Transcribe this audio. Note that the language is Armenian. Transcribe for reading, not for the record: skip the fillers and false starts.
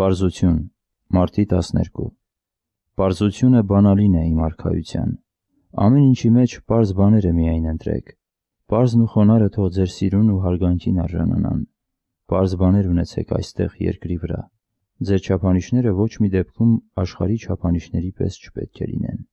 Պարզություն, Մարտի 12 Պարզությունը բանալին է իմ արքայության։ Ամեն ինչի մեջ պարզ բաները միայն ընտրեք։ Պարզն ու խոնարհը թող ձեր սիրուն ու հարգանքին արժանանան։ Պարզ բաներ ունեցեք այստեղ երկրի վրա։ Ձեր չափանիշները ոչ մի դեպքում աշխարհի չափանիշների պես չպետք է լինեն։